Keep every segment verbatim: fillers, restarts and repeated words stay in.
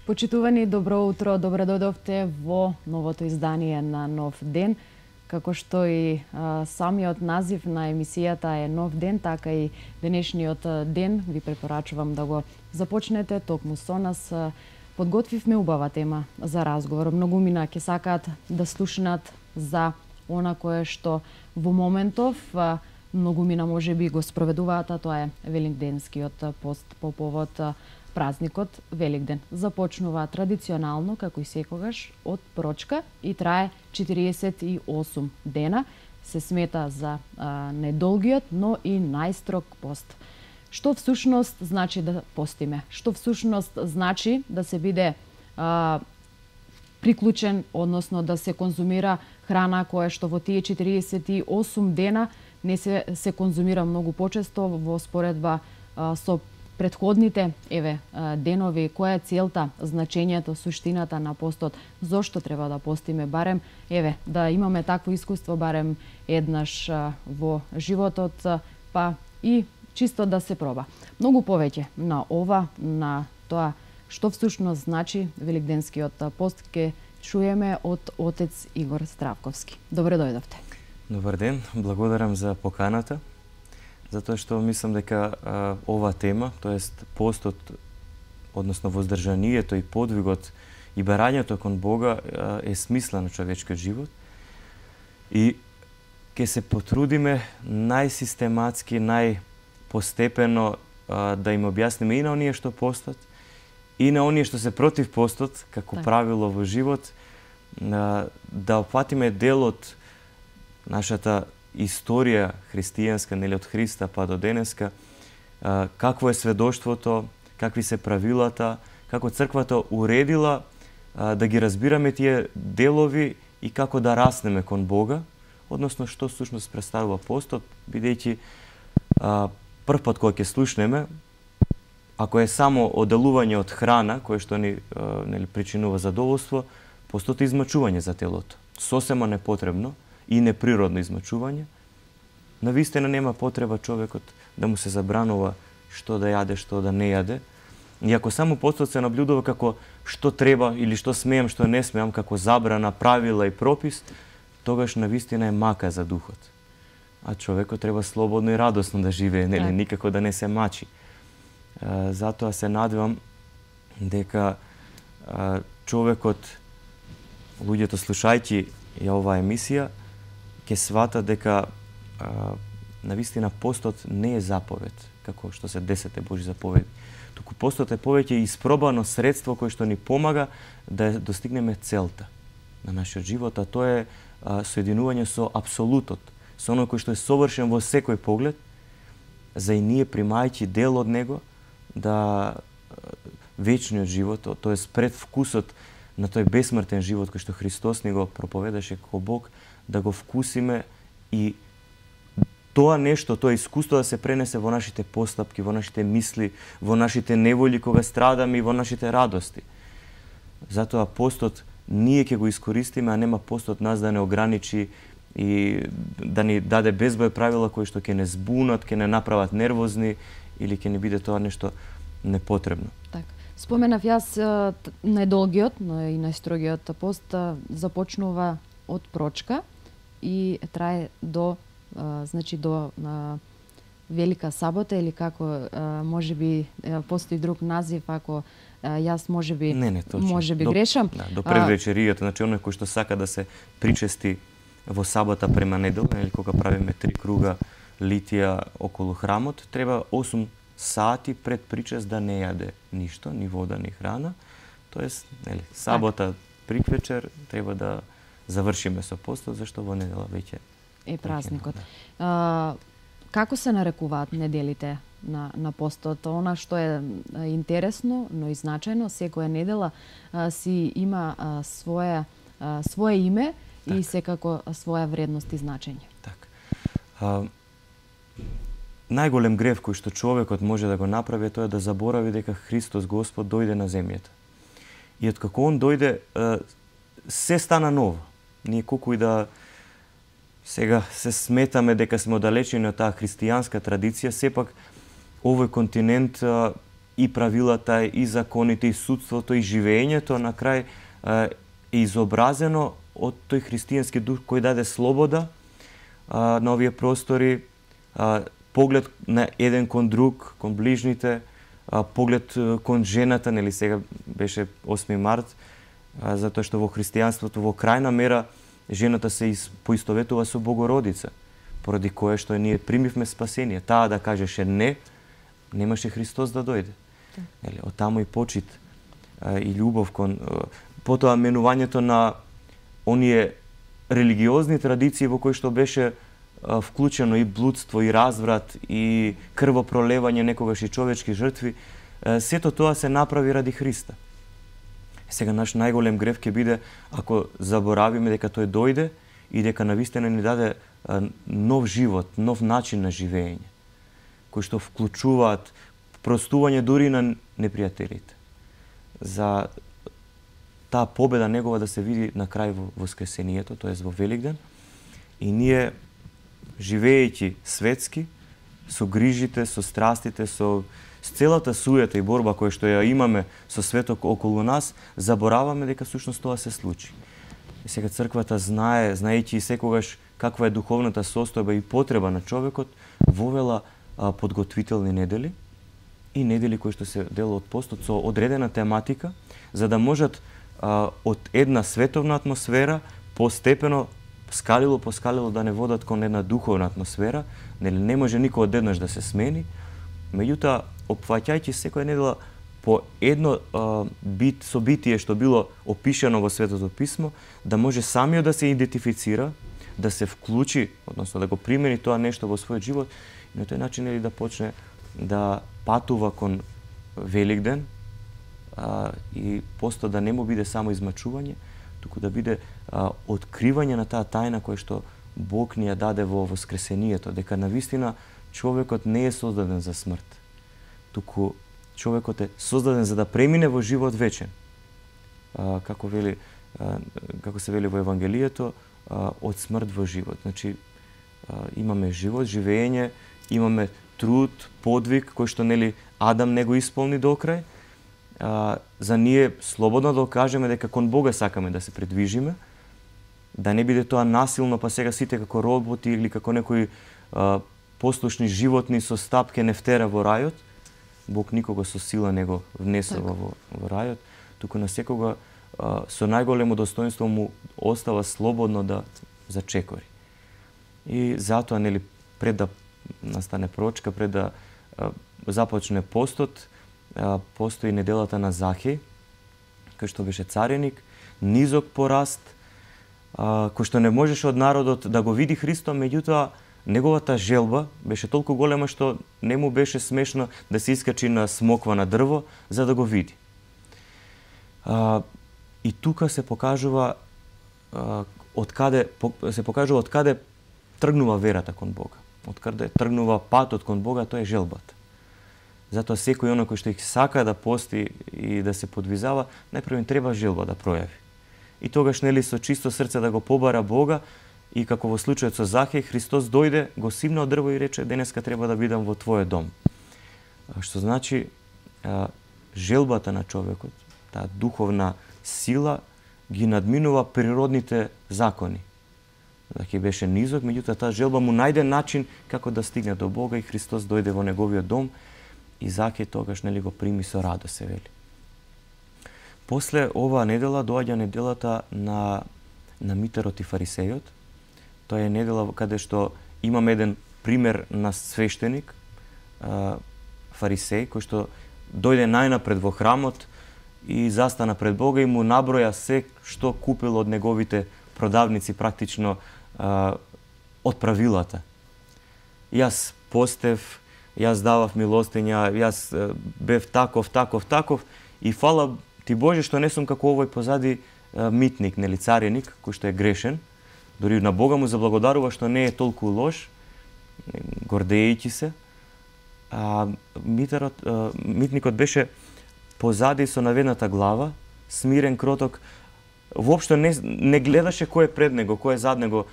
Почитувани, добро утро, добро дојдовте во новото издание на Нов ден. Како што и а, самиот назив на емисијата е Нов ден, така и денешниот ден ви препорачувам да го започнете токму со нас. Подготвивме убава тема за разговор. Многумина ќе сакаат да слушнат за она кое што во моментов а, многумина можеби го спроведуваат, а тоа е великденскиот пост по повод празникот Великден. Започнува традиционално, како и секогаш, од прочка и трае четириесет и осум дена. Се смета за а, недолгиот, но и најстрог пост. Што всушност значи да постиме? Што всушност значи да се биде а, приклучен, односно да се конзумира храна која што во тие четириесет и осум дена не се, се конзумира многу почесто во споредба а, со предходните еве денови, која е целта, значењето, суштината на постот, зошто треба да постиме, барем еве да имаме такво искуство барем еднаш во животот, па и чисто да се проба. Многу повеќе на ова, на тоа што всушност значи великденскиот пост ќе чуеме од отец Игор Здравковски. Добре дојдовте. Добар ден, благодарам за поканата. Затоа што мислам дека а, ова тема, тоест постот, односно воздржанието и подвигот и барањето кон Бога а, е смисла на човечкиот живот. И ќе се потрудиме најсистематски, најпостепено а, да им објасниме и на оние што постат, и на оние што се против постот, како так. Правило во живот, а, да опфатиме дел од нашата историја христијанска, нели од Христа па до денеска, какво е сведоштвото, какви се правилата, како црквата уредила да ги разбираме тие делови и како да раснеме кон Бога, односно што всушност представува постот, бидејќи прв пат кога ќе слушнеме, ако е само оделување од храна, кое што ни нели причинува задоволство, постот е измачување за телото. Сосема непотребно и неприродно измачување. Навистина нема потреба човекот да му се забранува што да јаде, што да не јаде. И ако само постот се наблюдува како што треба или што смеам, што не смеам, како забрана, правила и пропис, тогаш навистина е мака за духот. А човекот треба слободно и радосно да живее, нели, никако да не се мачи. А, затоа се надевам дека а, човекот, луѓето слушајќи ја оваа емисија, ќе свата дека а, навистина постот не е заповед, како што се десете Божи заповеди. Туку постот е повеќе испробано средство кое што ни помага да достигнеме целта на нашиот живот, а тоа е а, соединување со апсолутот, со оно кој што е совршен во секој поглед, за и ние примајќи дел од него, да вечниот живот, тоест предвкусот на тој бесмртен живот кој што Христос ни го проповедаше како Бог, да го вкусиме и тоа нешто, тоа искуство да се пренесе во нашите постапки, во нашите мисли, во нашите неволи кога страдаме и во нашите радости. Затоа постот ние ќе го искористиме, а нема постот нас да не ограничи и да ни даде безброј правила кои што ќе не збунат, ќе не направат нервозни или ќе не биде тоа нешто непотребно. Так. Споменав јас најдолгиот, но и најстрогиот пост започнува од прочка и трае до а, значи до а, Велика сабота или како а, можеби постои друг назив, ако а, јас можеби не, не, точно. можеби до, грешам. Да, до предвечеријата, значи оној кој што сака да се причести во сабота према недела, или кога правиме три круга литија околу храмот, треба осум сати пред причест да не јаде ништо, ни вода, ни храна. Тоест, нели, сабота приквечер треба да завршиме со постот, зашто во недела веќе е празникот. А, како се нарекуваат неделите на, на постот? Она што е интересно, но и значајно, секоја недела а, си има а, своја, а, свое име так. И секако своја вредност и значење. Так. А, најголем грев кој што човекот може да го направи е тоа да заборави дека Христос Господ дојде на земјата. И откако он дојде, се стана ново. Ние колку и да сега се сметаме дека сме оддалечени од таа христијанска традиција, сепак овој континент и правилата, и законите, и судството, и живеењето на крај е изобразено од тој христијански дух кој даде слобода на овие простори, поглед на еден кон друг, кон ближните, поглед кон жената, нели сега беше осми март, затоа што во христијанството во крајна мера жената се поистоветува со Богородица, поради кое што ние примивме спасение. Таа да кажеше не, немаше Христос да дојде. Нели, од таму и почит и љубов кон потоа менувањето на оние религиозни традиции во кои што беше вклучено и блудство, и разврат, и крвопролевање, некогаш и човечки жртви, сето тоа се направи ради Христа. Сега наш најголем грев ќе биде ако заборавиме дека тој дојде и дека навистина ни даде нов живот, нов начин на живење, кои што вклучуваат простување дури на непријателите. За таа победа негова да се види на крај во Воскресението, тоест во Великден, и ние живеејќи светски, со грижите, со страстите, со с целата суета и борба која што ја имаме со светот околу нас, забораваме дека всушност тоа се случи. И сега црквата знае, знаејќи секогаш каква е духовната состојба и потреба на човекот, вовела а, подготвителни недели и недели кои што се дел од постот со одредена тематика, за да можат а, од една световна атмосфера постепено скалило по скалило да не водат кон една духовна атмосфера, нели не може никој одеднаш да се смени, меѓутоа опфаќајќи секоја недела по едно а, бит собитие што било опишано во Светото писмо, да може самиот да се идентифицира, да се вклучи, односно да го примени тоа нешто во својот живот и на тој начин нели да почне да патува кон Великден а, и посто да не му биде само измачување, туку да биде а, откривање на таа тајна која што Бог ни ја даде во Воскресението, дека навистина човекот не е создаден за смрт, туку човекот е создаден за да премине во живот вечен. А, како вели, а, како се вели во Евангелието, а, од смрт во живот. Значи а, имаме живот, живење, имаме труд, подвиг кој што нели Адам не го исполни до крај. А, за ние слободно да кажеме дека кон Бога сакаме да се придвижиме, да не биде тоа насилно, па сега сите како роботи или како некои а, послушни животни со стапке не втера во рајот. Бог никога со сила не го внесува во, во рајот, туку на секога а, со најголемо достоинство му остава слободно да зачекори. И затоа, нели, пред да настане прочка, пред да а, започне постот, а, постои неделата на Захеј, кој што беше цареник, низок пораст, а, кој што не можеше од народот да го види Христо, меѓутоа неговата желба беше толку голема што не му беше смешно да се искачи на смоква на дрво за да го види. А, и тука се покажува а, од каде се покажува од каде тргнува верата кон Бога. Од каде тргнува патот кон Бога, тоа е желбата. Затоа секој оној кој што их сака да пости и да се подвизава, најпрво им треба желба да пројави. И тогаш нели со чисто срце да го побара Бога. И како во случајот со Захеј, Христос дојде, го симна од дрво и рече: денеска треба да бидам во твојот дом. Што значи, желбата на човекот, таа духовна сила, ги надминува природните закони. Захеј беше низок, меѓутоа таа желба му најде начин како да стигне до Бога и Христос дојде во неговиот дом и Захеј тогаш нели го прими со радост, се вели. После оваа недела доаѓа неделата на на митарот и фарисејот. Тоа е недела каде што имаме еден пример на свештеник, фарисеј, кој што дојде најнапред во храмот и застана пред Бога и му наброја се што купил од неговите продавници, практично од правилата. Јас постев, јас давав милостиња, јас бев таков, таков, таков и фала ти Боже што не сум како овој позади митник, нели цареник, кој што е грешен. Дори на Бога му заблагодарува што не е толку лош, гордејќи се. А, митарот, а, митникот беше позади со наведната глава, смирен, кроток. Воопшто не, не гледаше кој е пред него, кој е зад него.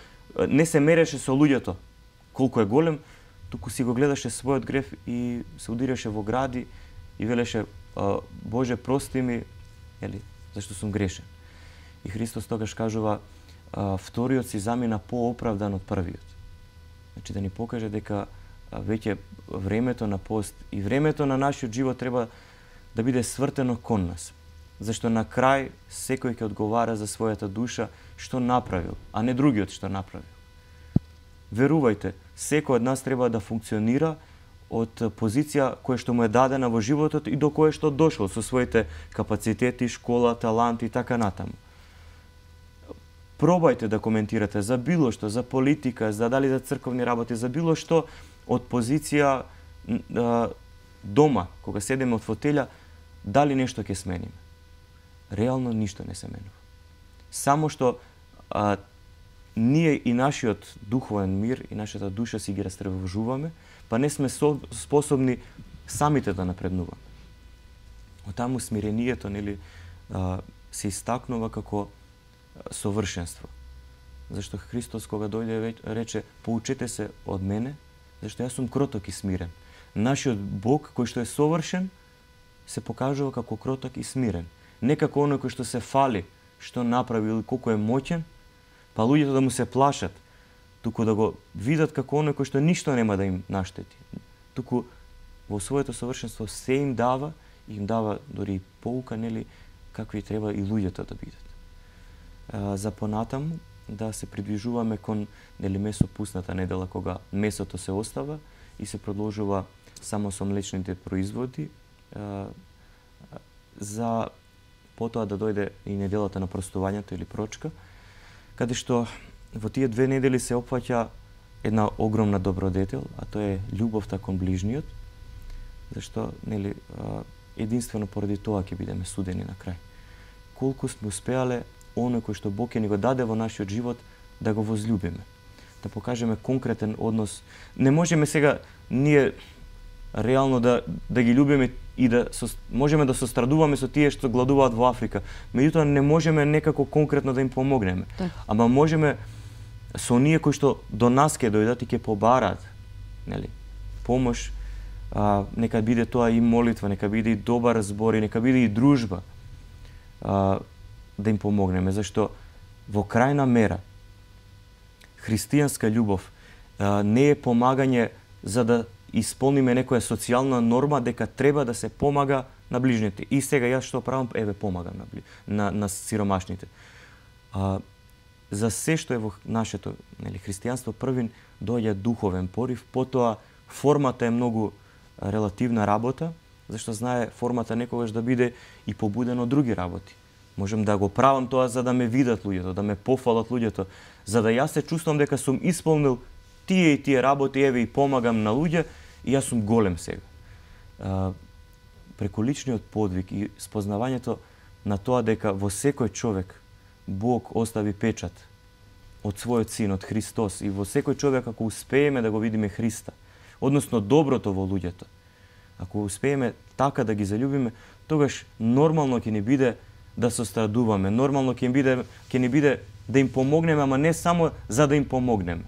Не се мереше со луѓето, колку е голем, туку си го гледаше својот греф и се удираше во гради и велеше Боже, прости ми, ели, зашто сум грешен. И Христос тогаш кажува, вториот си замина пооправдан од првиот. Значи да ни покаже дека веќе времето на пост и времето на нашиот живот треба да биде свртено кон нас. Зашто на крај секој ќе одговара за својата душа што направил, а не другиот што направил. Верувајте, секој од нас треба да функционира од позиција која што му е дадена во животот и до која што дошол со своите капацитети, школа, таланти и така натаму. Пробајте да коментирате за било што, за политика, за дали за црковни работи, за било што од позиција дома, кога седеме од фотелја, дали нешто ќе смениме. Реално ништо не се менува. Само што а, ние и нашиот духовен мир и нашата душа си ги растревожуваме, па не сме со, способни самите да напреднуваме. Отаму смирението, нели, а, се истакнува како совршенство. Зашто Христос кога дојде рече: "Поучете се од мене, зашто јас сум кроток и смирен." Нашиот Бог кој што е совршен се покажува како кроток и смирен. Не како оној кој што се фали, што направил, колку е моќен, па луѓето да му се плашат, туку да го видат како оној кој што ништо нема да им наштети. Туку во своето совршенство се им дава, и им дава дори поука, нели, какви треба и луѓето да бидат. А, за понатаму да се придвижуваме кон, нели, месопусната недела, кога месото се остава и се продолжува само со млечните производи, а, за потоа да дојде и неделата на простувањето или прочка, каде што во тие две недели се опфаќа една огромна добродетел, а тоа е љубовта кон ближниот, зашто, нели, единствено поради тоа ќе бидеме судени на крај. Колку сме успеале оној кој што Бог ќе ни го даде во нашиот живот да го возлюбиме, да покажеме конкретен однос. Не можеме сега ние реално да да ги љубиме и да со, можеме да сострадуваме со тие што гладуваат во Африка, меѓутоа не можеме некако конкретно да им помогнеме. Так. Ама можеме со оние кои што до нас ќе дојдат и ќе побараат, нели, помош, а, нека биде тоа и молитва, нека биде и добар збор, и нека биде и дружба, а, да им помогнеме, зашто во крајна мера христијанска љубов а, не е помагање за да исполниме некоја социјална норма дека треба да се помага на ближните. И сега јас што правам, еве помагам на на, на сиромашните. А, за се што е во нашето, нели, христијанство, првин доаѓа духовен порив, потоа формата е многу релативна работа, зашто знае формата некогаш да биде и побудена од други работи. Можем да го правам тоа за да ме видат луѓето, да ме пофалат луѓето, за да јас се чувствувам дека сум исполнил тие и тие работи, еве и помагам на луѓе, и јас сум голем сега. А, преку личниот подвиг и спознавањето на тоа дека во секој човек Бог остави печат од својот син, од Христос, и во секој човек ако успееме да го видиме Христа, односно доброто во луѓето, ако успееме така да ги заљубиме, тогаш нормално ќе ни биде да сострадуваме, нормално ќе ни биде, ќе ни биде да им помогнеме, ама не само за да им помогнеме,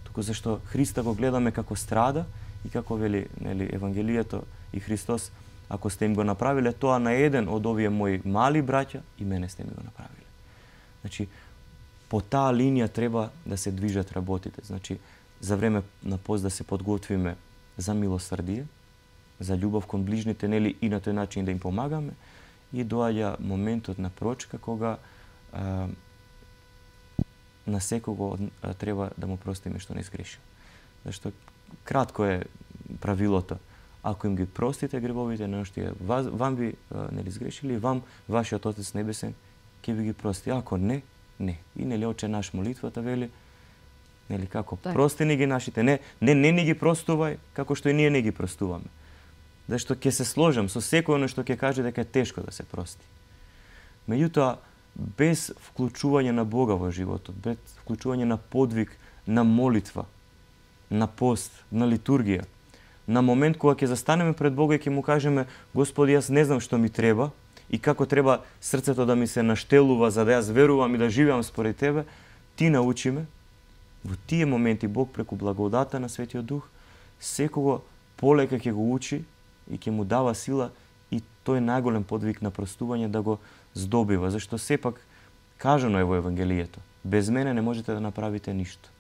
туку зашто Христа го гледаме како страда и како вели, нели, Евангелието и Христос: ако сте им го направиле тоа на еден од овие мои мали браќа, и мене сте ми го направиле. Значи, по таа линија треба да се движат работите. Значи, за време на пост да се подготвиме за милосрдие, за љубов кон ближните, нели, и на тој начин да им помагаме, и доаѓа моментот на прочка кога а, на секого а, треба да му простиме што не сгрешил. Зашто кратко е правилото: ако им ги простите гревовите на оштие вам би, нели, сгрешили, вам вашиот Отец небесен ќе ви ги прости. Ако не, не. И, нели, Отче наш молитвата вели, Нели како Так. прости ни ги нашите, не не не ни ги простувај како што и ние не ги простуваме. Зашто ќе се сложам со секој оно што ќе каже дека е тешко да се прости. Меѓутоа, без вклучување на Бога во животот, без вклучување на подвиг, на молитва, на пост, на литургија, на момент кога ќе застанеме пред Бога и ќе му кажеме: Господи, јас не знам што ми треба и како треба срцето да ми се наштелува за да јас верувам и да живеам според Тебе, ти научиме. Во тие моменти Бог преку благодата на Светиот Дух секого полека ќе го учи и ќе му дава сила и тој најголем подвиг на простување да го здобива, зашто сепак кажано е во Евангелието: без мене не можете да направите ништо.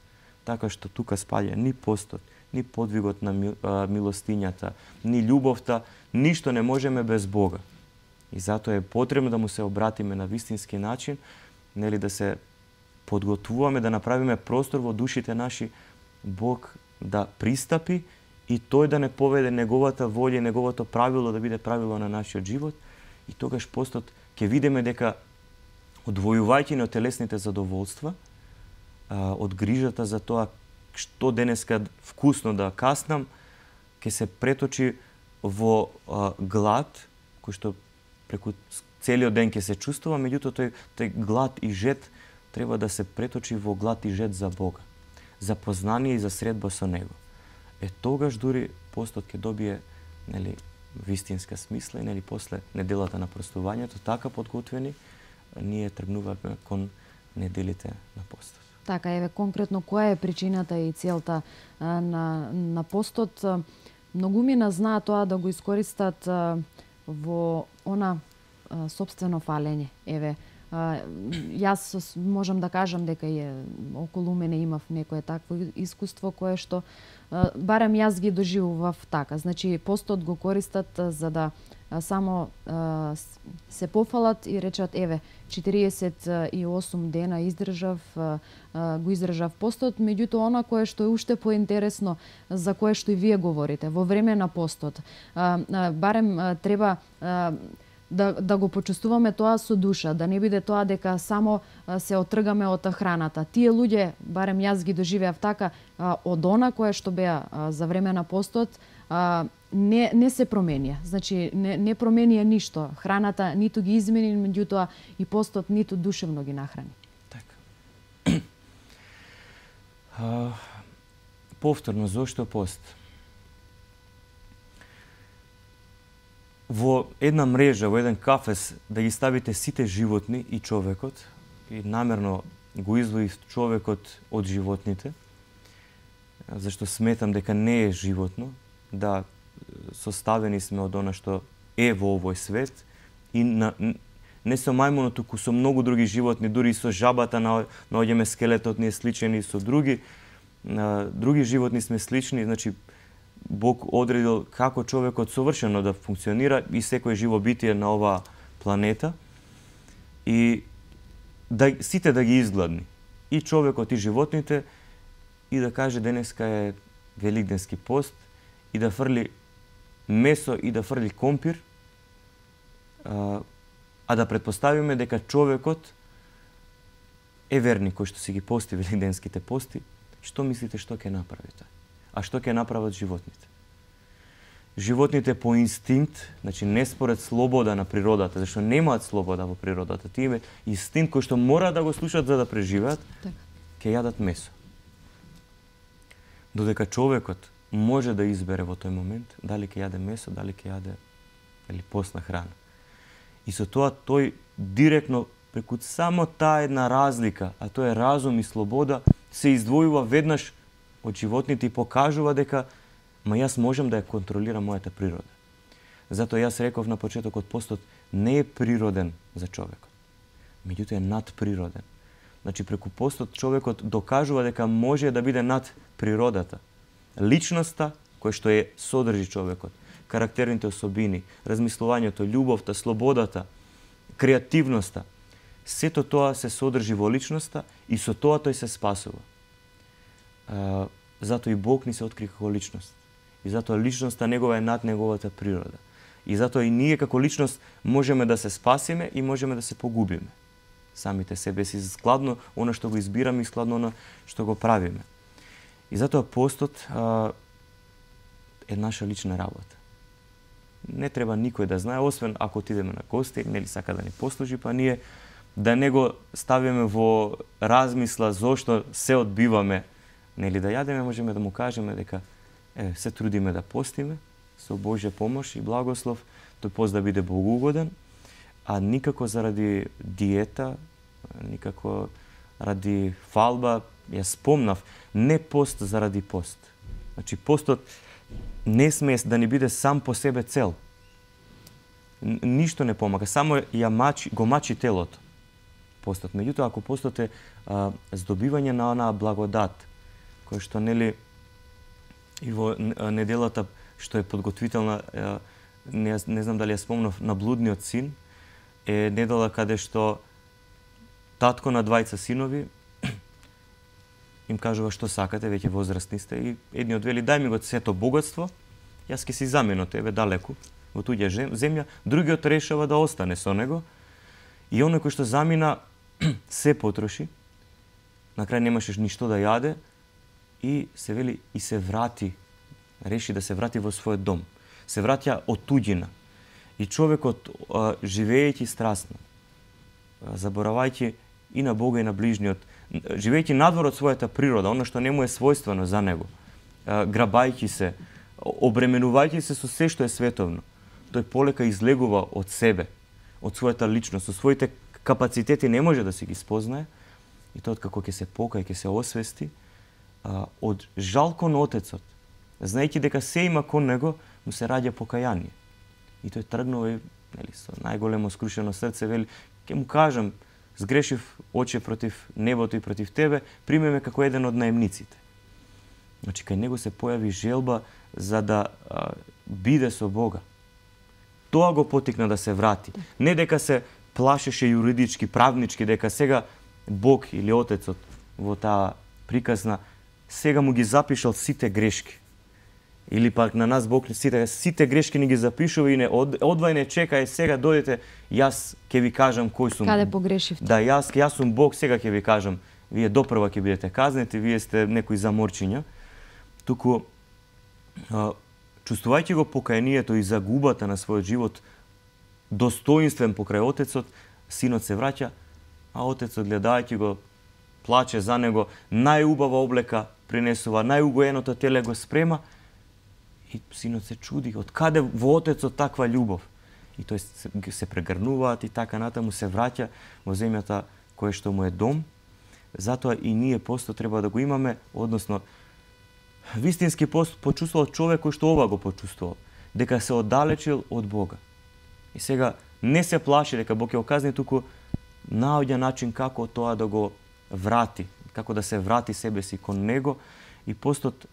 Така што тука спаѓа ни постот, ни подвигот на милостињата, ни љубовта, ништо не можеме без Бога. И затоа е потребно да му се обратиме на вистински начин, нели да се подготвуваме, да направиме простор во душите наши, Бог да пристапи и тој да не поведе неговата волја, неговото правило да биде правило на нашиот живот, и тогаш постот ќе видиме дека одвојувајќи од телесните задоволства, од грижата за тоа што денеска вкусно да каснам, ќе се преточи во глад, кој што преку целиот ден ќе се чувствува, меѓутоа тој, тој глад и жет треба да се преточи во глад и жет за Бога, за познание и за средба со Него. Е тогаш дури постот ќе добие, нели, вистинска смисла и, нели, после неделата на простувањето, така подготвени, ние тргнуваме кон неделите на постот. Така, еве, конкретно која е причината и целта а, на, на постот? Многумина знаат тоа да го искористат а, во она а, собствено фалење. Еве, а, јас можам да кажам дека е околу мене имав некое такво искуство кое што а, барем јас ги доживував така. Значи, постот го користат а, за да а, само а, се пофалат и речат: еве, четириесет и осум дена издржав, а, а, го издржав постот, меѓутоа она кое што е уште поинтересно, за кое што и вие говорите, во време на постот, а, а, барем а, треба а, да, да го почувствуваме тоа со душа, да не биде тоа дека само а, се отргаме од храната. Тие луѓе, барем јас ги доживеав така, а, од она кое што беа а, за време на постот, а, не, не се променија. Значи, не, не променија ништо. Храната ниту ги измени, меѓутоа и постот ниту душевно ги нахрани. Така. а, повторно, зошто пост? Во една мрежа, во еден кафес, да ги ставите сите животни и човекот, и намерно го издвоив човекот од животните, зашто сметам дека не е животно, да составени сме од она што е во овој свет, и на, не со мајмунот, туку со многу други животни, дури и со жабата наоѓаме скелетот ни е сличен, и со други, други животни сме слични. Значи, Бог одредил како човекот совршено да функционира и секој живо битие на оваа планета, и да, сите да ги изгладни, и човекот и животните, и да каже денеска е великденски пост, и да фрли месо и да фрли компир, а, а да предпоставиме дека човекот е верник кој што си ги пости великденските пости. Што мислите што ќе направи тој? А што ќе направат животните? Животните по инстинкт, значи не според слобода на природата, зашто немаат слобода во природата, тие имаат инстинкт кој што мора да го слушаат за да преживеат, Так. ќе јадат месо. Додека човекот може да избере во тој момент дали ќе јаде месо, дали ќе јаде или постна храна. И со тоа тој директно преку само таа една разлика, а тоа е разум и слобода, се издвојува веднаш од животните и покажува дека ма јас можам да ја контролирам мојата природа. Затоа јас реков на почетокот, постот не е природен за човекот, меѓутоа е надприроден. Значи, преку постот човекот докажува дека може да биде над природата. Личноста која што е содржи човекот, карактерните особини, размислувањето, љубовта, слободата, креативноста, сето тоа се содржи во личноста и со тоа тој се спасува. А, затоа и Бог ни се откри како личност. И затоа личноста негова е над неговата природа. И затоа и ние како личност можеме да се спасиме и можеме да се погубиме. Самите себе си складно она што го избираме и складно она што го правиме. И затоа постот а, е наша лична работа. Не треба никој да знае, освен ако отидеме на гости, нели сака да ни послужи, па ние да не го ставиме во размисла зошто се одбиваме, нели да јадеме, можеме да му кажеме дека е, се трудиме да постиме со Божја помош и благослов, тој пост да биде богоугоден, а никако заради диета, никако ради фалба. Ја спомнав, не пост заради пост. Значи постот не смее да ни биде сам по себе цел. Ништо не помага, само ја мачи, го мачи телото. Постот. Меѓутоа, ако постот е а, здобивање на онаа благодат, која што нели и во неделата што е подготвителна, а, не, не знам дали ја спомнав, на блудниот син, е недела каде што татко на двајца синови им кажува што сакате, веќе возрастни сте, и едниот вели дај ми го сето богатство, јас ќе си заменам тебе далеку во туѓа земја, другиот решава да остане со него, и оној кој што замина се потроши, на крај немаше ништо да јаде, и се вели и се врати, реши да се врати во својот дом. Се враќа од туѓина. И човекот, живеејќи страстно, заборавајќи и на Бога и на ближниот, живејќи надвор од својата природа, оно што не му е својствено за него, грабајќи се, обременувајќи се со се што е световно, тој полека излегува од себе, од својата личност, со своите капацитети не може да си ги спознае, и тоа како ќе се покај, ќе се освести, од жал кон Отецот, знаејќи дека се има кон него, му се раѓа покаяние. И тој тргнува, нели, со најголемо скрушено срце, вели, ќе му кажам, сгрешив, оче, против небото и против тебе, приме ме како еден од наемниците. Значи, кај него се појави желба за да а, биде со Бога. Тоа го потикна да се врати. Не дека се плашеше юридички, правнички, дека сега Бог или Отецот во таа приказна сега му ги запишал сите грешки. Или пак на нас Бог сите, сите грешки ни ги запишува и не од, одвај не чекај, сега дојдете, јас ќе ви кажам кој сум. Каде погрешивте? Да, јас, јас сум Бог, сега ќе ви кажам. Вие допрва ќе бидете казнети, вие сте некои заморчиња. Туку, а, чувствувајќи го покајанието и загубата на својот живот, достоинствен покрај Отецот, синот се враќа, а Отецот гледајќи го, плаче за него, најубава облека принесува, најугоеното теле го спрема, и синот се чуди, од каде во Отецот таква љубов? И тој се, се прегрнуваат и така натаму се враќа во земјата која што му е дом. Затоа и ние посто треба да го имаме, односно вистински пост почувствувал човек кој што ова го почувствувал, дека се оддалечил од Бога. И сега не се плаши дека Бог ќе го казни, туку наоѓа начин како тоа да го врати, како да се врати себе си кон него, и постот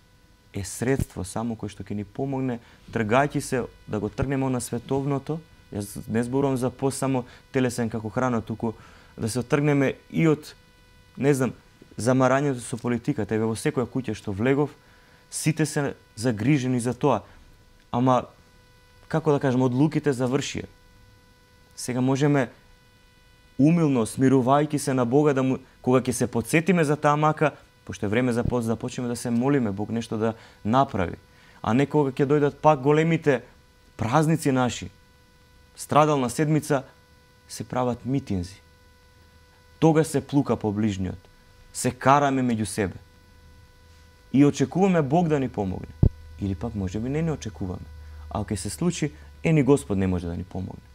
е средство само кој што ќе ни помогне, тргајќи се да го тргнеме на световното. Јас не зборувам за пост само телесен како храна, туку да се отргнеме и од, не знам, замарањето со политиката. Еве во секоја куќа што влегов, сите се загрижени за тоа. Ама, како да кажем, одлуките завршија. Сега можеме умилно, смирувајќи се на Бога, да му, кога ќе се подсетиме за таа мака, пошто е време за пост, да почнеме да се молиме Бог нешто да направи. А не кога ќе дојдат пак големите празници наши, страдална седмица, се прават митинзи. Тога се плука по ближниот. Се караме меѓу себе. И очекуваме Бог да ни помогне. Или пак може би не не очекуваме. А ако се случи, е ни Господ не може да ни помогне.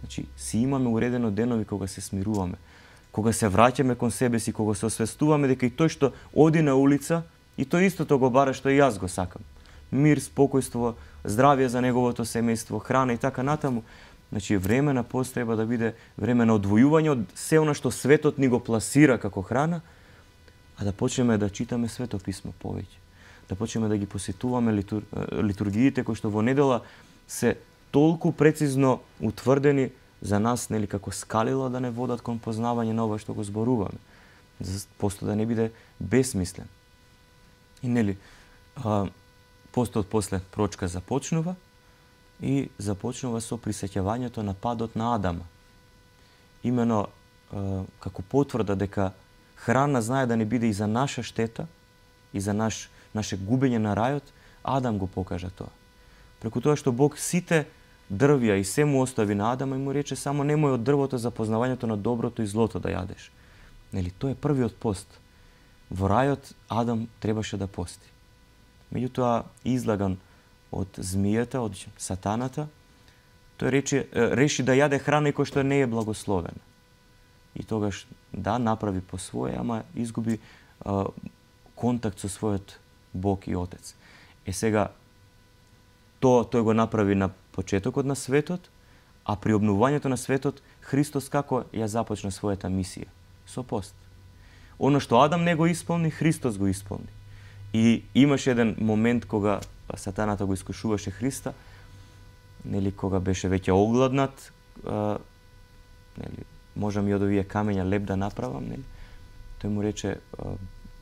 Значи, си имаме уредено денови кога се смируваме, кога се враќаме кон себе си, кога се освестуваме дека и тој што оди на улица, и тој истото го бара што и јас го сакам. Мир, спокојство, здравје за неговото семејство, храна и така натаму. Значи, време на пост треба да биде време на одвојување од се она што светот ни го пласира како храна, а да почнеме да читаме Свето писмо повеќе. Да почнеме да ги посетуваме литур... литургиите кои што во недела се толку прецизно утврдени за нас, нели, како скалила да не водат кон познавање на ова што го зборуваме. За постот да не биде безсмислен. И нели, а, постот после прочка започнува и започнува со присеќавањето на падот на Адама. Имено а, како потврда дека храна знае да не биде и за наша штета, и за наш наше губење на рајот, Адам го покажа тоа. Преку тоа што Бог сите дрвја и се му остави на Адама и му рече само немој од дрвото за познавањето на доброто и злото да јадеш. Нели, тоа е првиот пост. Во рајот Адам требаше да пости. Меѓутоа, излаган од змијата, од сатаната, тој рече, реши да јаде храна која што не е благословена. И тогаш, да, направи по своје, ама изгуби а, контакт со својот Бог и Отец. Е сега, тоа тој го направи на почетокот на светот, а при обновувањето на светот, Христос како ја започна својата мисија? Со пост. Оно што Адам не го исполни, Христос го исполни. И имаше еден момент кога сатаната го искушуваше Христа, нели, кога беше веќе огладнат, а, нели, можам и од овие камења леб да направам, нели? Тој му рече, а,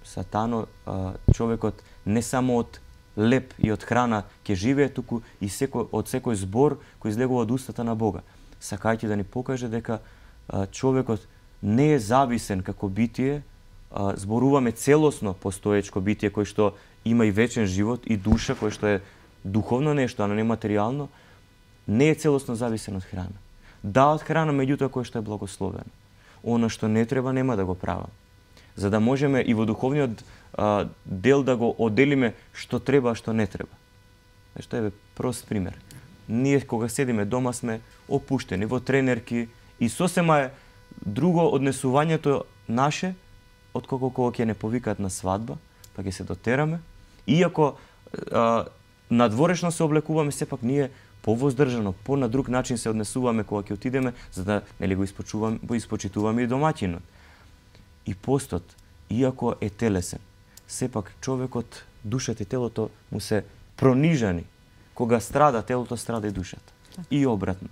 Сатано, а, човекот не само од леб и од храна ќе живее, туку и секој, од секој збор кој излегува од устата на Бога. Сакајќи да ни покаже дека а, човекот не е зависен како битие, а, зборуваме целосно постоечко битие кој што има и вечен живот и душа, кој што е духовно нешто, а не материјално, не е целосно зависен од храна. Да, од храна, меѓутоа кој што е благословено. Она што не треба, нема да го правам. За да можеме и во духовниот а, дел да го оделиме што треба, а што не треба. Што е прост пример. Ние кога седиме дома сме опуштени во тренерки и сосема е друго однесувањето наше, отколку кога ќе не повикаат на свадба, па ќе се дотераме. Иако а, надворешно се облекуваме, сепак ние повоздржано, по на друг начин се однесуваме кога ќе отидеме, за да нели го испочуваме, го испочитуваме и домаќинот. И постот, иако е телесен, сепак човекот, душата и телото му се пронижани. Кога страда телото, страда и душата. И обратно.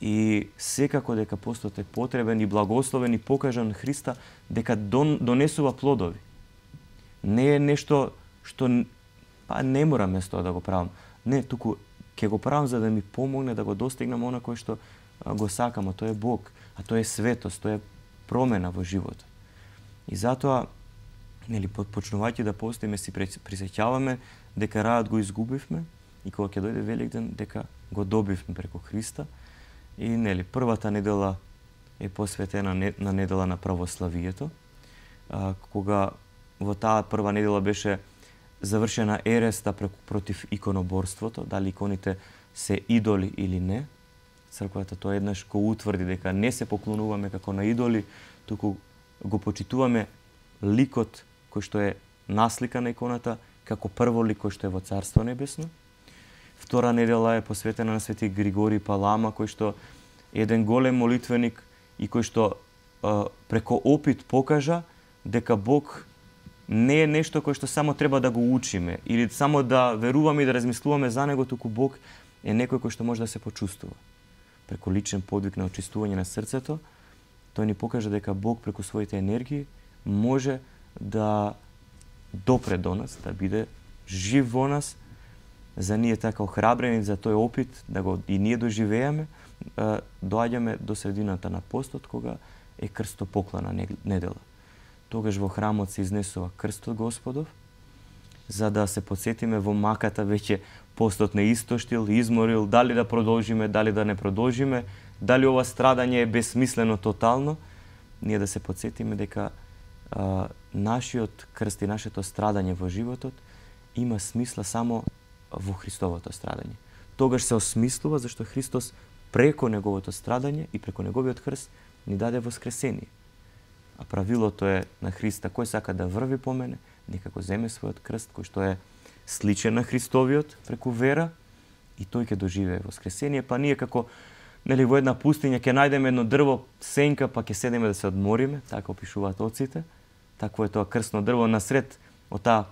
И секако дека постот е потребен и благословен и покажан Христа дека дон, донесува плодови. Не е нешто што па не морам место да го правам. Не, туку ќе го правам за да ми помогне да го достигнам она кој што го сакам, а тоа е Бог, а тоа е светост, тоа е промена во животот. И затоа, нели, почнувајќи да постиме, си присеќаваме дека рајот го изгубивме и кога ќе дојде Великден дека го добивме преку Христа. И нели, првата недела е посветена на недела на православието, а, кога во таа прва недела беше завршена ереста против иконоборството, дали иконите се идоли или не. Црквата тоа еднаш го утврди дека не се поклонуваме како на идоли, туку го почитуваме ликот кој што е наслика на иконата, како прво лик кој што е во Царство Небесно. Втора недела е посветена на Свети Григорий Палама, кој што е еден голем молитвеник и кој што а, преко опит покажа дека Бог не е нешто кој што само треба да го учиме или само да веруваме и да размислуваме за него, туку Бог е некој кој што може да се почувствува. Преку личен подвиг на очистување на срцето, тој ни покажа дека Бог преку своите енергии може да допре до нас, да биде жив во нас, за ние така охрабрени за тој опит, да го и ние доживееме, доаѓаме до средината на постот, кога е крстопоклона недела. Тогаш во храмот се изнесува крстот Господов, за да се подсетиме во маката веќе постот не истоштил, изморил, дали да продолжиме, дали да не продолжиме, дали ова страдање е безсмислено тотално, ние да се подсетиме дека а, нашиот крст и нашето страдање во животот има смисла само во Христовото страдање. Тогаш се осмислува зашто Христос преко неговото страдање и преко неговиот крст ни даде воскресение. А правилото е на Христа, кој сака да врви по мене, нека го земе својот крст, кој што е сличен на Христовиот преку вера, и тој ќе доживее воскресение. Па ние како, нели, во една пустиња ќе најдеме едно дрво, сенка, па ќе седеме да се одмориме, така опишуваат оците. Такво е тоа крстно дрво насред од таа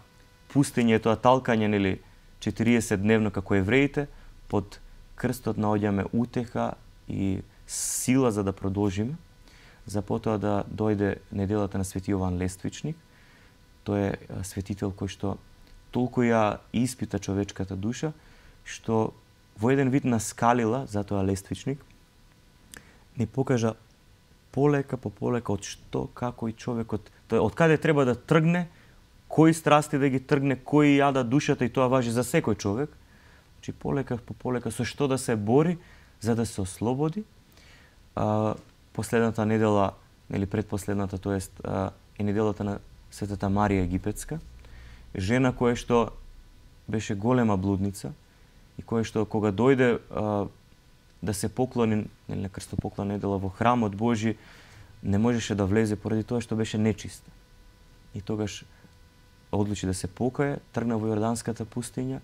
пустиња, тоа талкање, нели, четириесет дневно како евреите, под крстот наоѓаме утеха и сила за да продолжиме. За потоа да дојде неделата на Свети Јован Лествичник. Тој е светител кој што толку ја испита човечката душа, што во еден вид наскалила, затоа Лествичник, ни покажа полека по полека од што, како и човекот, тој од каде треба да тргне, кои страсти да ги тргне, кои јада душата, и тоа важи за секој човек. Значи полека по полека со што да се бори за да се ослободи. А, последната недела, или предпоследната, тоест е неделата на Светата Марија Египетска, жена која што беше голема блудница и која што кога дојде а, да се поклони, нели, на крстопоклон недела во храмот Божи, не можеше да влезе поради тоа што беше нечиста. И тогаш одлучи да се покае, тргна во Јорданската пустиња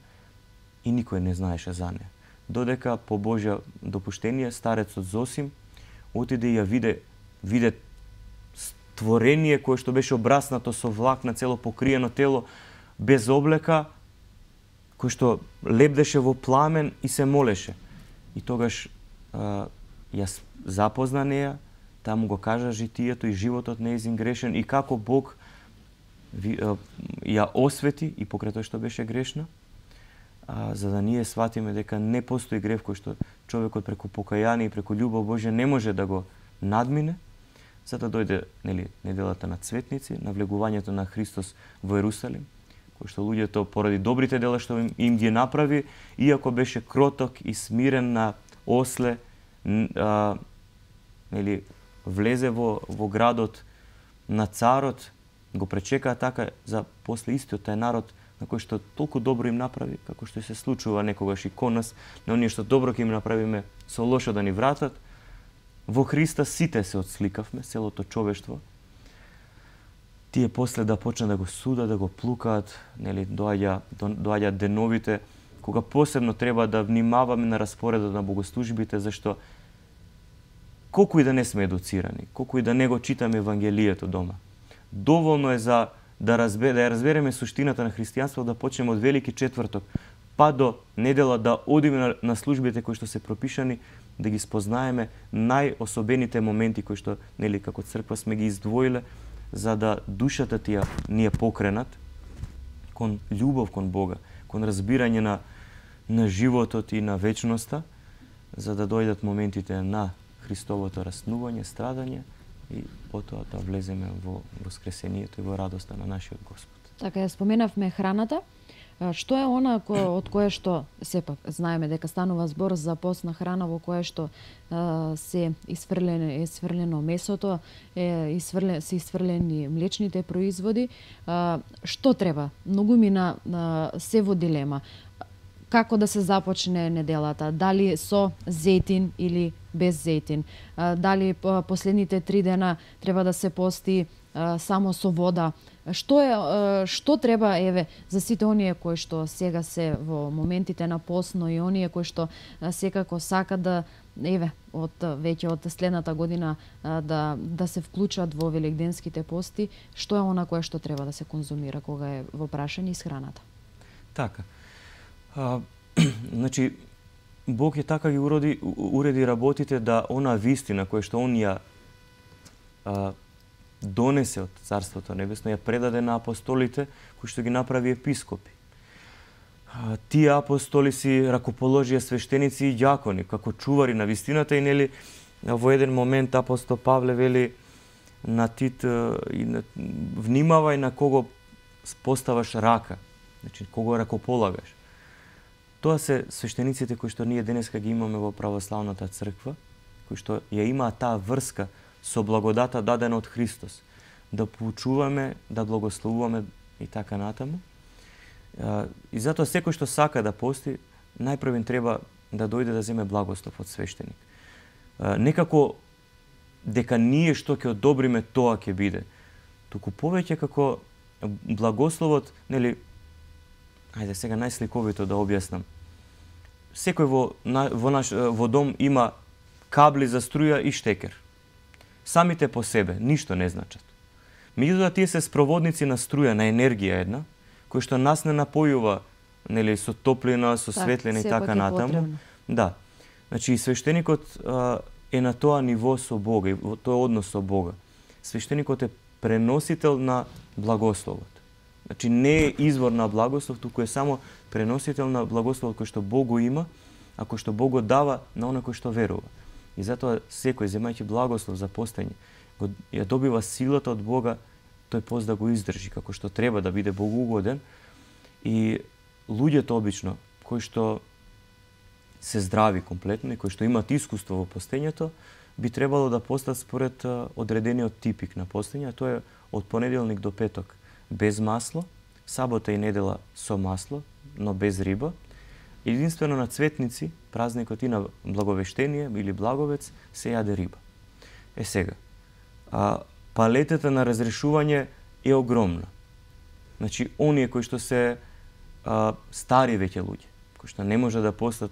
и никој не знаеше за неа. Додека по Божја допуштение старецот Зосим отиде и ја виде, виде створение кое што беше обраснато со влакна, цело покриено тело, без облека, кој што лебдеше во пламен и се молеше. И тогаш а, ја запозна неа, таму го кажа житието и животот нејзин грешен и како Бог ви, а, ја освети и покрај тоа што беше грешна, а, за да ние сватиме дека не постои грев кој што човекот преку покаяние и преку љубов Божја не може да го надмине, за да дојде, нели, неделата на цветници, навлегувањето на Христос во Ерусалим, кој што луѓето поради добрите дела што им, им ги направи, иако беше кроток и смирен на осле, а, нели, влезе во, во градот на царот, го пречекаа така за после истиот тај народ на кој што толку добро им направи, како што се случува некогаш и кон нас, на оние што добро ќе им направиме со лошо да ни вратат. Во Христа сите се отсликавме, целото човештво. Тие после да почнат да го судат, да го плукаат, нели, доаѓа, доаѓаат деновите, кога посебно треба да внимаваме на распоредот на богослужбите, зашто колку и да не сме едуцирани, колку и да не го читаме Евангелието дома, доволно е за да, разбер, да ја разбереме суштината на христијанството, да почнеме од Велики четврток, па до недела да одиме на, на службите кои што се пропишани, да ги спознаеме најособените моменти кои што, нели, како црква сме ги издвоиле, за да душата ти ја ни ја покренат кон љубов кон Бога, кон разбирање на, на животот и на вечноста, за да дојдат моментите на Христовото раснување, страдање и потоа да влеземе во воскресението и во радоста на нашиот Господ. Така, ја споменавме храната. Што е она ко, од кое што, сепак, знаеме дека станува збор за постна храна во кое што а, се исфрлено, исфрлено месото, е, исфрлен, се исфрлени млечните производи. А, што треба? Многу мина а, се во дилема. Како да се започне неделата? Дали со зејтин или без зејтин? А, дали по, последните три дена треба да се пости а, само со вода? Што е што треба, еве, за сите оние кои што сега се во моментите на постно и оние кои што секако сакат да, еве, од веќе од следната година да да се вклучат во великденските пости, што е она кое што треба да се конзумира кога е во прашање исхраната? Така. А, значи Бог е така ги уреди уреди работите да она вистина која што он ја а, донесе од Царството Небесно, ја предаде на апостолите, кои што ги направи епископи. Тие апостоли си ракоположија свештеници и ѓакони, како чувари на вистината, и нели во еден момент апостол Павле вели на Тит, и на, внимавај на кого поставаш рака, значи кого ракополагаш. Тоа се свештениците кои што ние денеска ги имаме во православната црква, кои што ја имаат таа врска со благодата дадена од Христос, да поучуваме, да благословуваме и така натаму. И затоа секој што сака да пости, најпрвен треба да дојде да земе благослов од свештеник. Некако дека ние што ќе одобриме, тоа ќе биде. Туку повеќе како благословот, нели, ајде сега најсликовито да објаснам. Секој во, во, наш, во дом има кабли за струја и штекер. Самите по себе ништо не значат. Меѓутоа тие се спроводници на струја, на енергија една, кој што нас не напојува, нели, со топлина, со светлина и така натаму. Да. Значи и свештеникот а, е на тоа ниво со Бога, и во тој однос со Бога. Свештеникот е преносител на благословот. Значи не е извор на благослов, туку е само преносител на благословот кој што Бог го има, а кој што Бог го дава на оној кој што верува. И затоа секој, земајќи благослов за постење, го, ја добива силата од Бога тој пост да го издржи како што треба, да биде богоугоден. И луѓето обично кои што се здрави комплетно и кои што имаат искуство во постењето, би требало да постат според одредениот типик на постење, тоа е од понеделник до петок без масло, сабота и недела со масло, но без риба. Единствено на цветници, празникот и на Благовештение или Благовец, се јаде риба. Е сега, а, палетата на разрешување е огромна. Значи, оние кои што се а, стари веќе луѓе, кои што не може да постат,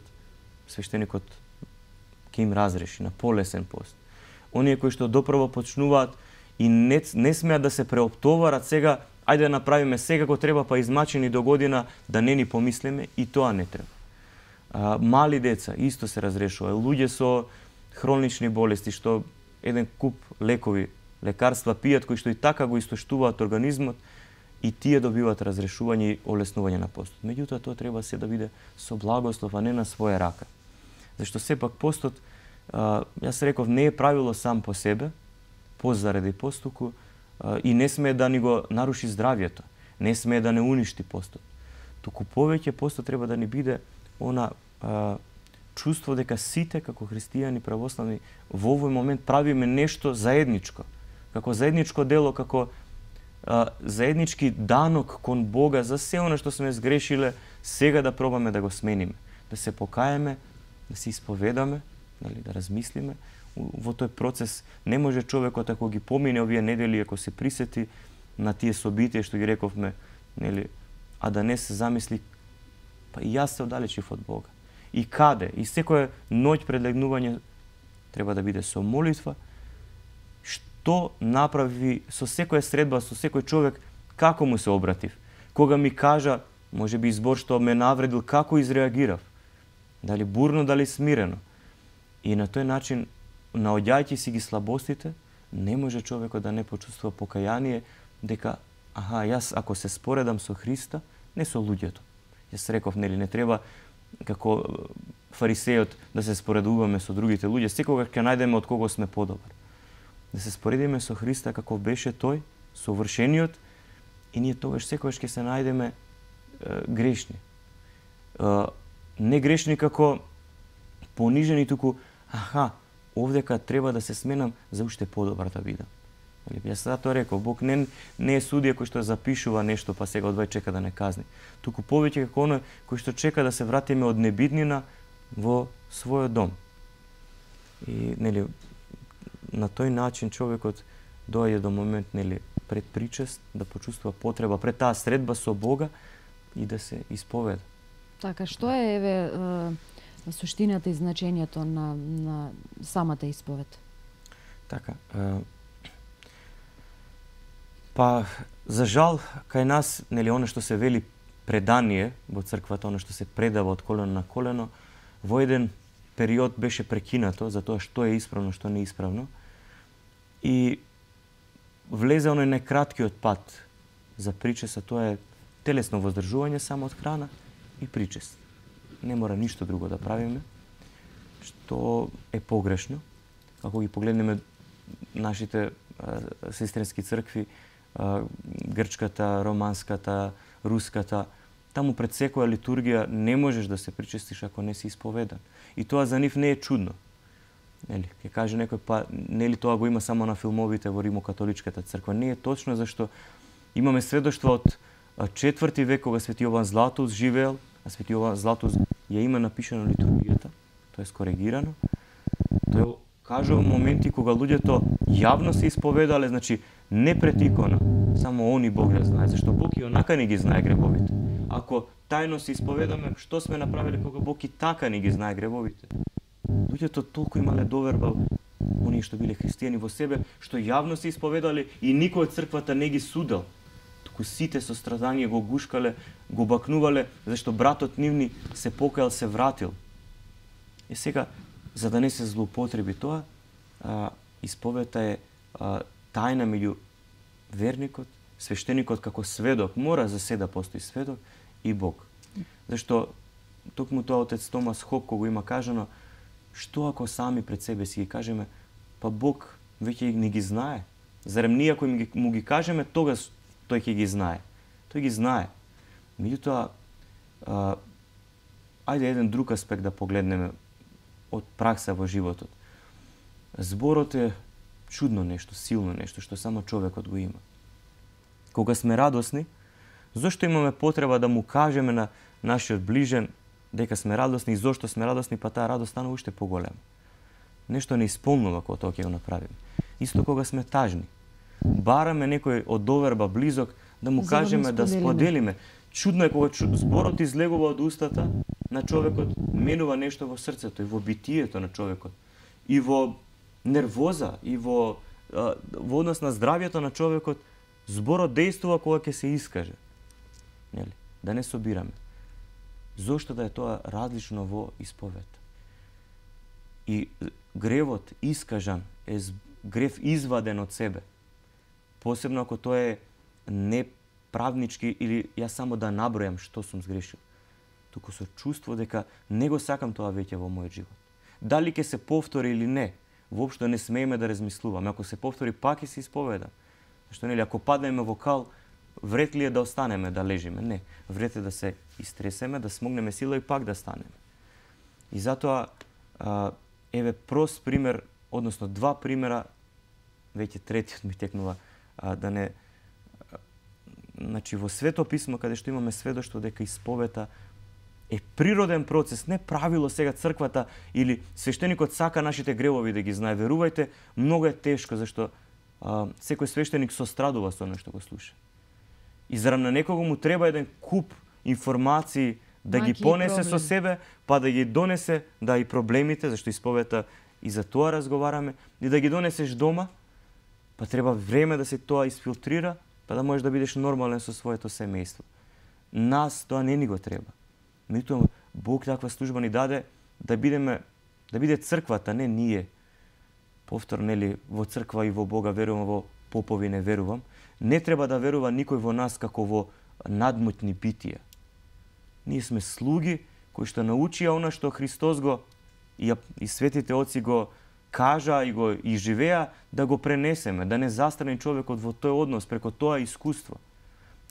свештеникот ќе им разреши на полесен пост. Оние кои што допрво почнуваат и не, не смеат да се преоптоварат сега, ајде да направиме сега го треба, па измачени до година да не ни помислиме, и тоа не треба. А, мали деца исто се разрешува. Луѓе со хронични болести што еден куп лекови, лекарства пијат кои што и така го истоштуваат организмот, и тие добиваат разрешување и олеснување на постот. Меѓутоа тоа треба се да биде со благослов, а не на своја рака. Зашто сепак постот, а, јас реков, не е правило сам по себе, пост заради постуку, а, и не смее да ни го наруши здравјето, не смее да не уништи постот. Туку повеќе постот треба да ни биде она а, чувство дека сите како христијани православни во овој момент правиме нешто заедничко, како заедничко дело, како а, заеднички данок кон Бога за се она што сме сгрешиле, сега да пробаме да го смениме, да се покаеме, да се исповедаме, нали, да размислиме. Во тој процес не може човекот, ако ги помине овие недели, ако се присети на тие собитија што ги рековме, нели, а да не се замисли, па и јас се оддалечив од Бога. И каде? И секоја ноќ пред легнување треба да биде со молитва. Што направи со секоја средба, со секој човек, како му се обратив? Кога ми кажа, може би избор што ме навредил, како изреагирав? Дали бурно, дали смирено? И на тој начин, наоѓајќи си ги слабостите, не може човекот да не почувствува покаяние, дека, аха, јас ако се споредам со Христа, не со луѓето. Јас реков, нели, не треба како фарисејот да се споредуваме со другите луѓе, секогаш ќе најдеме од кого сме подобар. Да се споредиме со Христа како беше тој, совршениот, и ние тогаш секогаш ќе се најдеме е, грешни. Е, не грешни како понижени, туку, аха, овдека треба да се сменам за уште подобар да бидам. Јас затоа реков, Бог не, не е судија кој што запишува нешто па сега одвај чека да не казни. Туку повеќе како оној кој што чека да се вратиме од небиднина во својот дом. И нели на тој начин човекот доаѓа до момент, нели, пред причест да почувствува потреба пред таа средба со Бога и да се исповеда. Така, што е еве суштината и значењето на, на самата исповед? Така, е, па, за жал, кај нас, нели, оно што се вели предание во црквата, оно што се предава од колено на колено, во еден период беше прекинато за тоа што е исправно, што не е исправно. И влезе оној најкраткиот пат за причест, а тоа е телесно воздржување само од храна и причест. Не мора ништо друго да правиме, што е погрешно. Ако ги погледнеме нашите а, сестрински цркви, а, грчката, романската, руската, таму пред секоја литургија не можеш да се причестиш ако не си исповедан. И тоа за нив не е чудно. Нели, ќе каже некој, па нели тоа го има само на филмовите во римокатоличката црква. Не е точно, зашто имаме сведоштво од четврти век кога свети Јован Златус живеел, а свети Јован Златус ја има напишано литургијата, тоа е скоригирано. Тој кажува моменти кога луѓето јавно се исповедале, значи не пред икона, само они Бог ја знае, зашто Бог и онака не ги знае гребовите. Ако тајно се исповедаме, што сме направиле кога Бог и така не ги знае гребовите? Луѓето толку имале доверба, оние што биле христијани во себе, што јавно се исповедале и никој од црквата не ги судел. Туку сите со страдање го гушкале, го бакнувале, зашто братот нивни се покајал, се вратил. И сега, за да не се злоупотреби тоа, а, исповета е а, тајна меѓу верникот, свештеникот како сведок, мора за се да постои сведок, и Бог. Зашто токму тоа отец Томас Хок кога има кажано, што ако сами пред себе си ги кажеме, па Бог веќе не ги знае, Зарем ние кои ги, му ги кажеме, тогаш тој ќе ги знае. Тој ги знае. Меѓутоа, ајде еден друг аспект да погледнеме од пракса во животот. Зборот е чудно нешто, силно нешто, што само човекот го има. Кога сме радосни, зошто имаме потреба да му кажеме на нашиот ближен дека сме радосни и зошто сме радосни, па таа радост стана уште поголема. Нешто не исполнува кога тоа ќе го направиме. Исто кога сме тажни. Бараме некој од доверба близок да му За да кажеме, му да споделиме. споделиме. Чудно е кога чу- зборот излегува од устата на човекот, менува нешто во срцето и во битието на човекот. И во нервоза, и во, а, во однос на здравието на човекот, зборот действува кога ќе се искаже. Нели? Да не собираме. Зошто да е тоа различно во исповед? И гревот искажан е з- грев изваден од себе. Посебно ако тоа е неправнички или јас само да набројам што сум сгрешил. Туку со чувство дека не го сакам тоа веќе во мојот живот. Дали ќе се повтори или не, воопшто не смееме да размислуваме. Ако се повтори, пак ќе се исповедам. Зашто нели, ако паднеме во кал, вред ли е да останеме, да лежиме? Не. Вред е да се истресеме, да смогнеме сила и пак да станеме. И затоа, а, еве прост пример, односно два примера, веќе третиот ми текнува, а, да не... а, Значи, во Свето писмо, каде што имаме сведоштво дека исповета е природен процес, не правило сега црквата или свештеникот сака нашите гревови да ги знае. Верувајте, многу е тешко, зашто а, секој свештеник сострадува со она што го слуша. И зарем на некого му треба еден куп информации да ги Маки и понесе со проблем. себе, па да ги донесе, да и проблемите, зашто исповета и за тоа разговараме, и да ги донесеш дома, па треба време да се тоа изфилтрира, па да можеш да бидеш нормален со своето семејство. Нас тоа не ни го треба. Меѓутоа, Бог таква служба ни даде да бидеме, да биде црквата, не ние. Повторно, нели, во црква и во Бога верувам, во попови не верувам. Не треба да верува никој во нас како во надмутни битија. Ние сме слуги кои што научија она што Христос го и, и светите оци го кажа и го и живеа, да го пренесеме, да не застрани човекот во тој однос преку тоа искуство.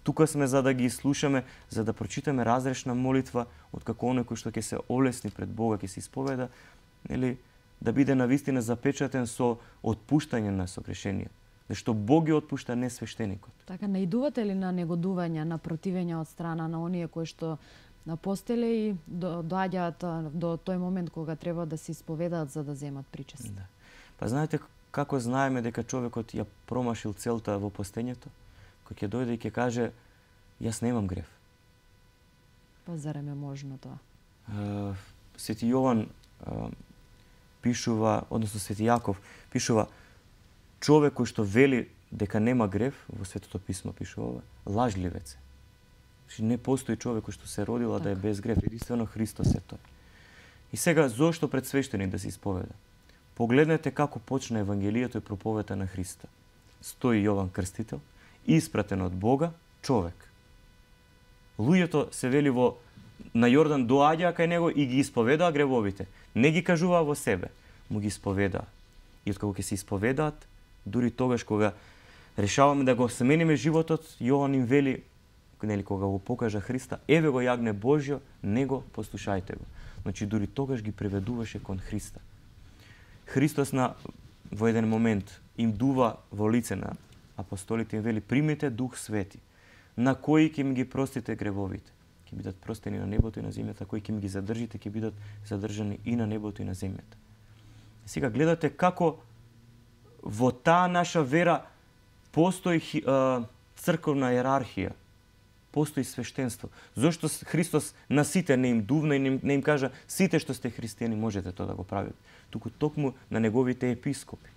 Тука сме за да ги слушаме, за да прочитаме разрешна молитва од како оној кој што ќе се олесни пред Бога, ќе се исповеда, нели, да биде навистина запечатен со отпуштање на согрешенија. Зашто Бог ги отпушта, не свештеникот. Така, наидувате ли на негодување, на противење од страна на оние кои што напостеле и до, доаѓаат а, до тој момент кога треба да се исповедаат за да земат причест? Да. Па знаете како знаеме дека човекот ја промашил целта во постењето? Кој ќе дојде и ќе каже, јас немам грев. Па зарем е можно тоа? Uh, Свети Јован uh, пишува, односно Свети Јаков пишува, човек кој што вели дека нема грев, во Светото писмо пишува ова, лажливец е. Значи, не постои човек кој што се родила да е без грев, единствено Христос е тој. И сега, зошто пред свештеник да се исповеда? Погледнете како почна Евангелието и проповета на Христа. Стои Јован Крстител, испратен од Бога, човек. Луѓето се вели во на Јордан доаѓаа кај него и ги исповедаа гревовите. Не ги кажуваа во себе, му ги исповедаа. И откако ќе се исповедаат, дури тогаш кога решаваме да го смениме животот, Јован им вели, нели, кога го покажа Христа, еве го јагне Божјо, него послушајте го. Значи дури тогаш ги преведуваше кон Христа. Христос на во еден момент им дува во лице на апостолите, им вели, примите Дух Свети, на кои ќе ми ги простите гревовите. Ќе бидат простени на небото и на земјата, кои ќе ми ги задржите, ќе бидат задржани и на небото и на земјата. Сега гледате како во таа наша вера постои а, црковна иерархија, постои свештенство. Зошто Христос на сите не им дувна и не им, не им кажа, сите што сте христијани можете тоа да го правите, туку токму на неговите епископи.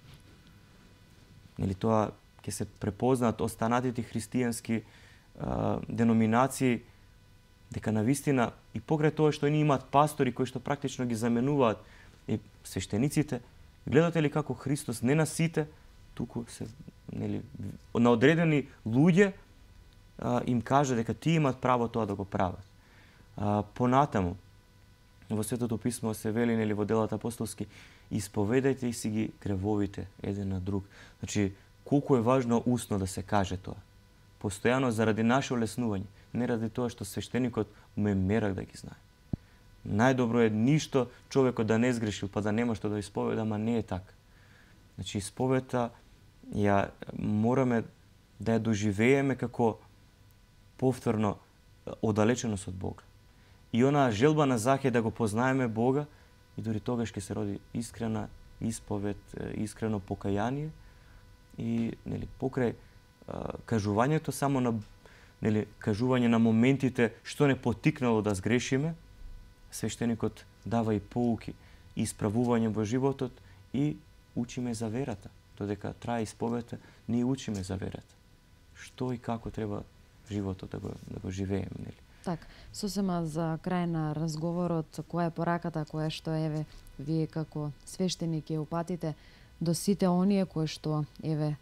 Нели, тоа ќе се препознаат останатите христијански а, деноминации, дека навистина и покрај тоа што они имаат пастори кои што практично ги заменуваат и свештениците, гледате ли како Христос не на сите, туку се, нели, на одредени луѓе а, им кажа дека тие имаат право тоа да го прават. А, понатаму, во Светото писмо се вели, нели, во делата апостолски, исповедајте и си ги гревовите еден на друг. Значи, колку е важно усно да се каже тоа. Постојано заради наше олеснување, не ради тоа што свештеникот ме мерак да ги знае. Најдобро е ништо човекот да не сгрешил, па да нема што да исповеда, ама не е така. Значи, исповета ја мораме да ја доживееме како повторно оддалеченост од Бога. И онаа желба на Захе да го познаеме Бога, и дури тогаш ќе се роди искрена исповед, искрено покаяние и нели покрај а, кажувањето само на нели кажување на моментите што не потикнало да сгрешиме, свештеникот дава и поуки, и исправување во животот и учиме за верата. Додека трае исповета, ние учиме за верата. Што и како треба животот да го, да го живееме, нели? Так, сосема за крај на разговорот, која е пораката која што еве вие како свештеник ја упатите до сите оние кои што еве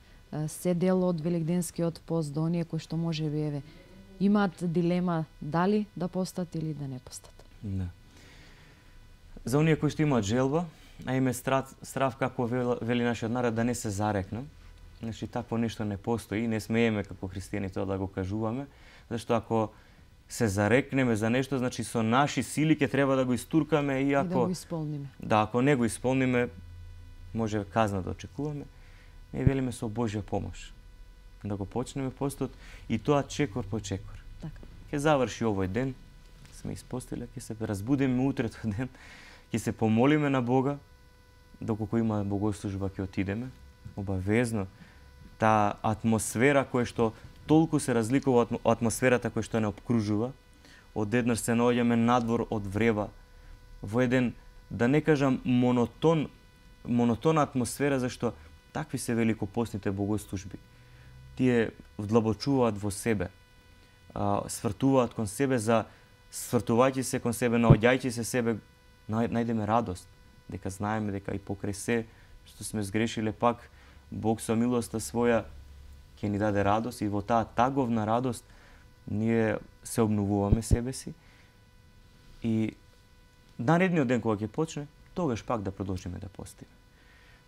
се дел од великденскиот пост, до оние кои што можеби еве имаат дилема дали да постат или да не постат. Да. За оние кои што имаат желба, а име страв, страв како вели нашиот народ, да не се зарекнем. Значи, такво нешто не постои, не смееме како христијани тоа да го кажуваме, зашто ако се зарекнеме за нешто, значи со наши сили ќе треба да го истуркаме и ако... И да го исполниме. Да, ако не го исполниме, може казна да очекуваме. Не велиме со Божја помош. Да го почнеме постот и тоа чекор по чекор. Така. Ќе заврши овој ден, сме испостиле, ќе се разбудиме утретот ден, ќе се помолиме на Бога, доколку има богослужба ќе отидеме. Обавезно, таа атмосфера која што толку се разликува од атмосферата која што не обкружува, одеднаш се наоѓаме надвор од врева, во еден, да не кажам монотон, монотона атмосфера, зашто такви се великопостните богослужби. Тие вдлабочуваат во себе, свртуваат кон себе, за свртувајќи се кон себе, наоѓајќи се себе, најдеме радост, дека знаеме дека и покрај се што сме сгрешиле, пак Бог со милоста своја ќе ни даде радост и во таа таговна радост ние се обновуваме себе си и наредниот ден кога ќе почне, тогаш пак да продолжиме да постиме.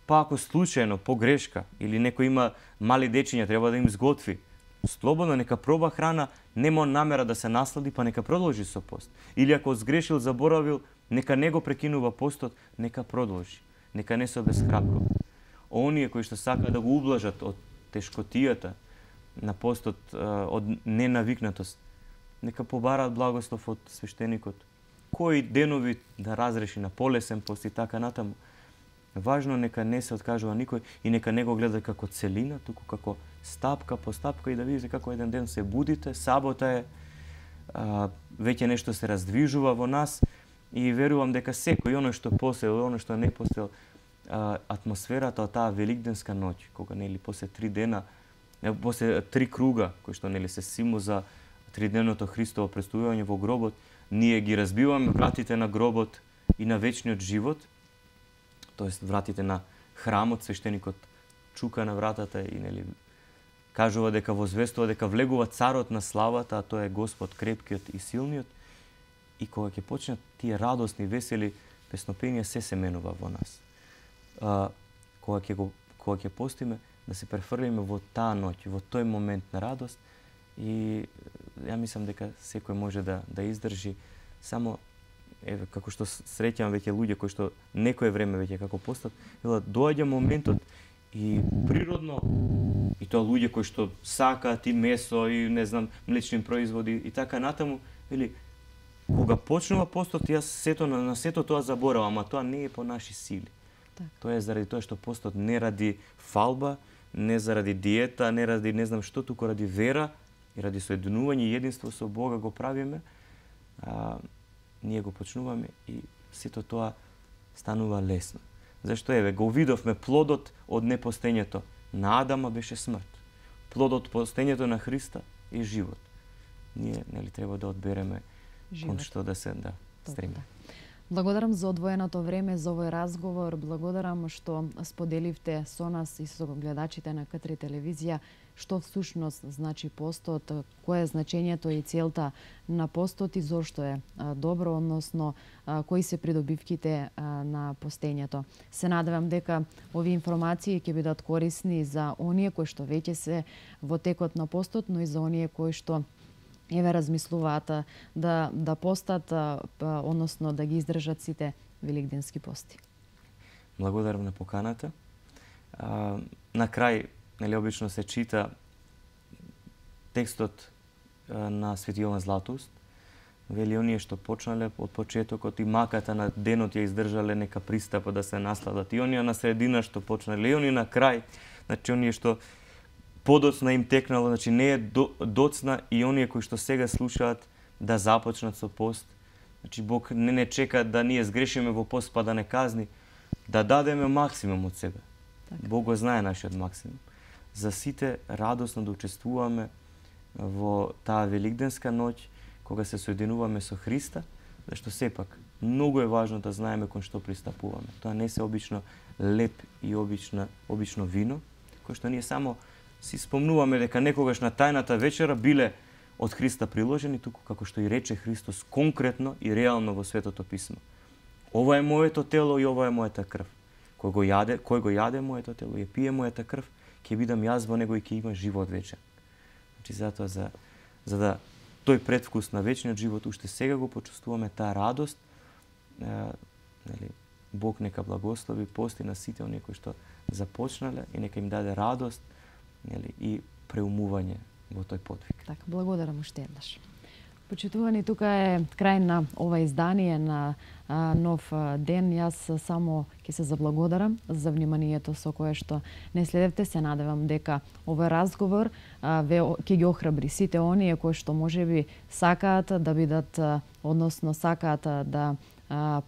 Па ако случајно, по грешка, или некој има мали дечиња, треба да им сготви, слободно нека проба храна, нема намера да се наслади, па нека продолжи со пост. Или ако сгрешил, заборавил, нека не го прекинува постот, нека продолжи. Нека не се обесхрабрува. Оние кои што сакаат да го ублажат од тешкотијата на постот, од ненавикнатост, нека побараат благослов од свештеникот. Кои денови да разреши на полесен пост и така натаму. Важно нека не се откажува никој и нека не го гледа како целина, туку како стапка по стапка и да видите како еден ден се будите, сабота е, а, веќе нешто се раздвижува во нас и верувам дека секој оној што посел, оној што не посел, атмосферата од таа великденска ноќ, кога нели после три дена, после три круга кои што нели се символ за тридневното Христово престојување во гробот, ние ги разбиваме вратите на гробот и на вечниот живот, тоест вратите на храмот, свештеникот чука на вратата и нели кажува дека возвестува дека влегува царот на славата, а тоа е Господ крепкиот и силниот. И кога ќе почнат тие радосни, весели песнопенија, се се менува во нас. А, кога ќе го кога ќе постиме, да се префрлиме во таа ноќ, во тој момент на радост и ја мислам дека секој може да да издржи. Само еве како што среќам веќе луѓе кои што некое време веќе како постат, велат доаѓа моментот и природно, и тоа луѓе кои што сакаат и месо и не знам млечни производи и така натаму, вели кога почнува постот, јас сето на, на сето тоа заборавам, ама тоа не е по наши сили. Так. Тоа е заради тоа што постот не ради фалба, не заради диета, не ради не знам што, туку ради вера и ради соединување и единство со Бога го правиме. А, ние го почнуваме и сето тоа станува лесно. Зашто еве го видовме плодот од непостењето на Адама беше смрт. Плодот од постењето на Христа е живот. Ние нели треба да одбереме кон што да се да стремиме. Благодарам за одвоеното време за овој разговор. Благодарам што споделивте со нас и со гледачите на К три телевизија што всушност значи постот, кое е значењето и целта на постот и зошто е добро, односно кои се придобивките на постењето. Се надевам дека овие информации ќе бидат корисни за оние кои што веќе се во текот на постот, но и за оние кои што еве размислуваат да да постат, односно да ги издржат сите великденски пости. Благодарам на поканата. А, на крај, нели, обично се чита текстот а, на Свети Јован Златоуст. Вели оние што почнале од почетокот и маката на денот ја издржале, нека пристапат да се насладат. И оние на средина што почнале, и оние на крај, значи оние што подоцна им текнало, значи не е до, доцна, и оние кои што сега слушаат да започнат со пост. Значи Бог не не чека да ние сгрешиме во пост па да не казни, да дадеме максимум од себе. Така. Бог го знае нашиот максимум. За сите радосно да учествуваме во таа великденска ноќ, кога се соединуваме со Христа, зашто сепак многу е важно да знаеме кон што пристапуваме. Тоа не се обично леп и обично, обично вино, кој што ние само си спомнуваме дека некогаш на тајната вечера биле од Христа приложени, туку како што и рече Христос конкретно и реално во Светото Писмо. Ова е моето тело и ова е мојата крв. Кој го јаде, кој го јаде моето тело и пие мојата крв, ќе бидам јас во него и ќе има живот вечен. Значи затоа за за да тој предвкус на вечниот живот уште сега го почувствуваме, таа радост, е, нели, Бог нека благослови пости на сите оние кои што започнале и нека им даде радост, нели, и преумување во тој подвиг. Така, благодарам уште еднаш. Почитувани, тука е крај на ова издание на а, Нов ден. Јас само ќе се заблагодарам за вниманието со кое што не следевте. Се надевам дека овој разговор а, ве ќе ги охрабри сите оние кои што можеби сакаат да бидат, а, односно сакаат да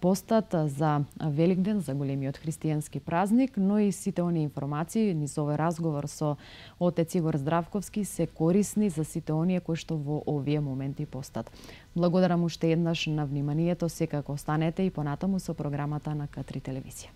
постат за Великден, за големиот христијански празник, но и сите оние информации низ овој разговор со отец Игор Здравковски се корисни за сите оние кои што во овие моменти постат. Благодарам уште еднаш на вниманието, секако останете и понатаму со програмата на К три телевизија.